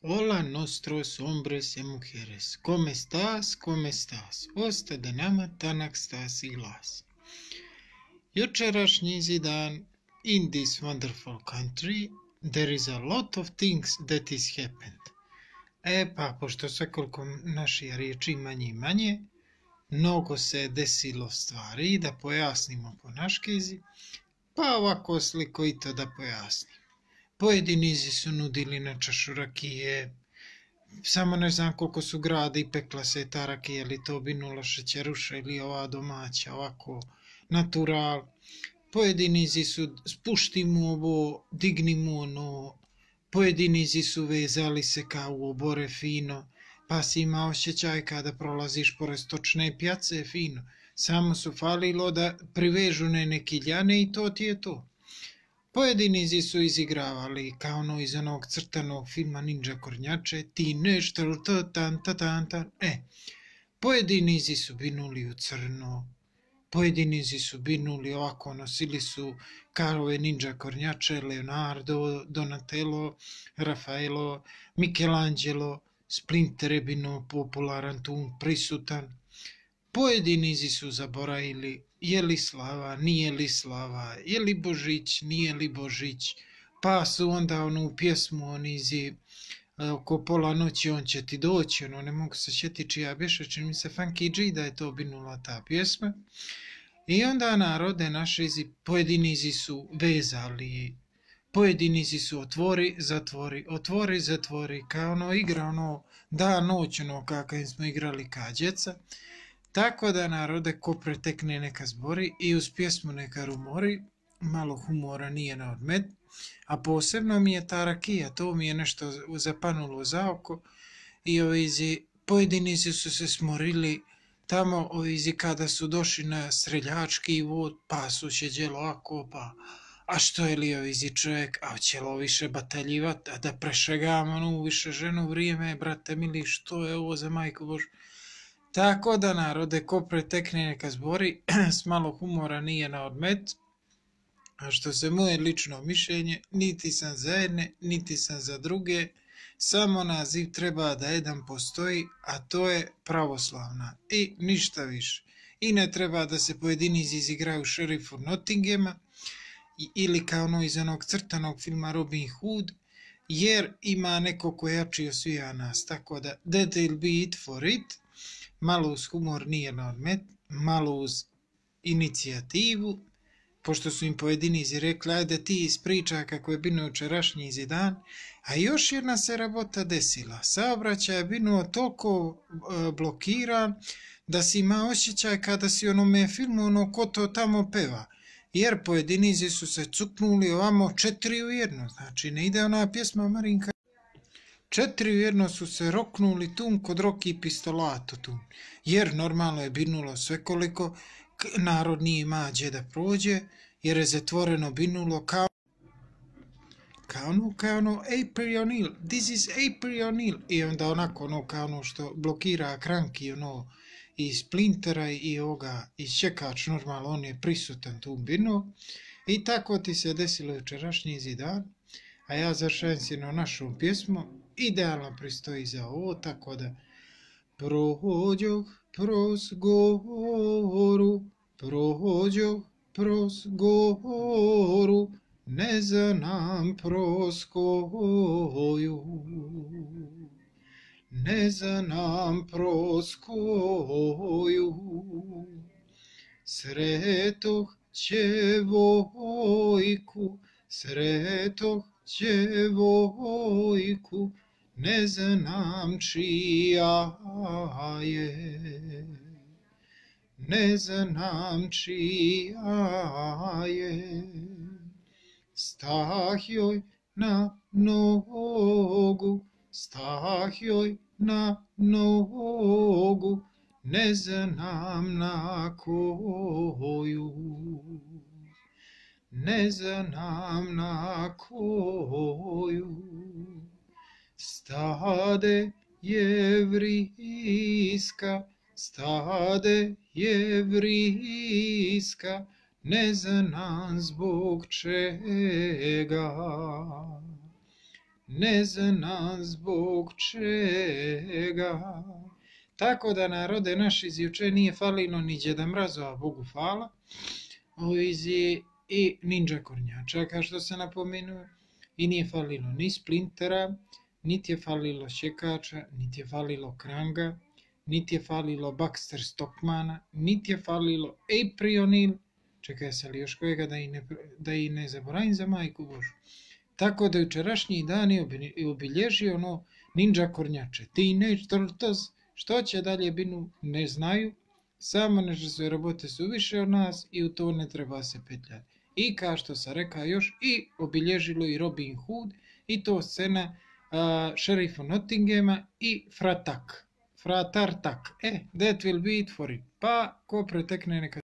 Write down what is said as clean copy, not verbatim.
Hola nostros hombres y mujeres, ¿cómo estás? ¿Cómo estás? Osta da nama tanak stas i glas. Jučerašnji dan, in this wonderful country, there is a lot of things that is happened. Pa, pošto svekoliko naši riječi manje i manje, mnogo se desilo stvari, da pojasnimo po naškezi, pa ovako slikovito da pojasnim. Pojedini su nudili na čašu rakije, samo ne znam koliko su grada i pekla se ta rakija, ili to bi nula šećeruša ili ova domaća, ovako natural. Pojedini su spušti mu ovo, digni mu ono, pojedini su vezali se kao u obore fino, pa si imao osjećaj kada prolaziš pored stočne pjace fino. Samo su falilo da privežu neke ljane i to ti je to. Pojedini su izigravali kao ono iz onog crtanog filma Ninja Kornjače, ti nešto tan. Pojedini su binuli u crno, pojedini su binuli ovako, nosili su kao ove Ninja Kornjače, Leonardo, Donatello, Raffaello, Michelangelo, Splinter je bino popularan tu, prisutan. Pojedini su zaboravili je li slava, nije li slava, je li Božić, nije li Božić, pa su onda onu pjesmu onizi oko pola noći on će ti doći, ono ne mogu se sjetiti čija bješe, čini mi se Funky G da je to binula ta pjesma. I onda narode naše pojedini su vezali, pojedini su otvori, zatvori, kao ono igra ono da noć ono kakav smo igrali ka djeca. Tako da narode ko pretekne neka zbori i uz pjesmu neka rumori, malo humora nije na odmet, a posebno mi je ta rakija, to mi je nešto zapanulo za oko i pojedini su se smorili tamo kada su došli na streljački vod, pa su šeđelo ako pa, a što je li čovjek, a ćelo više bataljivat, a da prešegamo ono više ženu vrijeme, brate mili, što je ovo za majku Božu. Tako da narode ko pretekne neka zbori, s malo humora nije na odmet, a što se moje lično mišljenje, niti sam za jedne, niti sam za druge, samo naziv treba da jedan postoji, a to je pravoslavna i ništa više. I ne treba da se pojedini izigraju šerifu Nottinghama ili kao ono iz onog crtanog filma Robin Hood, jer ima neko ko jači osvija nas, tako da that will be it for it. Malo uz humor nije na odmet, malo uz inicijativu, pošto su im pojedini rekli, ajde ti ispriča kako je bilo jučerašnji dan, a još jedna se rabota desila. Saobraćaj je bilo toliko blokiran da si ima osjećaj kada si onome filmu ono ko to tamo peva, jer pojedini su se cuknuli ovamo 4 u 1, znači ne ide ona pjesma Marinka. 4 u 1 su se roknuli tu kod Roki Pistolato tu, jer normalno je binulo svekoliko, narod nije ima gdje da prođe, jer je zatvoreno binulo kao ono April O'Neil, this is April O'Neil, i onda onako ono kao ono što blokira kranki ono i Splintera i ovoga i čekač normalno on je prisutan tu binu i tako ti se desilo jučerašnji dan. A ja završavam si na našom pjesmu, idealno pristoji za ovo, tako da prođoh proz goru, ne znam proz koju, ne znam proz koju, sretoh djevojku, ne znam čija je, ne znam čija je. Stah joj na nogu, ne znam na koju, ne znam na koju. Stade jevrijska, ne znam zbog čega, ne zna zbog čega. Tako da, narode naši, iz juče nije falilo ni Djeda Mrazova, Bogu hvala, i Ninja Kornjača, kao što se napomenuo, i nije falilo ni Splintera, niti je falilo Šekača, niti je falilo Kranga, niti je falilo Baxter Stockmana, niti je falilo Aprionil, čekaj se li još kojega da i ne zaboravim za majku Božu. Tako da jučerašnji dan je obilježio Ninja Kornjače. Teenage Turtles, što će dalje binu, ne znaju, samo nešto svoje robote su više od nas i u to ne treba se petljati. I kao što sam rekao još, i obilježilo i Robin Hood, i to scena šerifa Nottinghama i Fratartak. That will be it for it. Pa, ko pretekne neka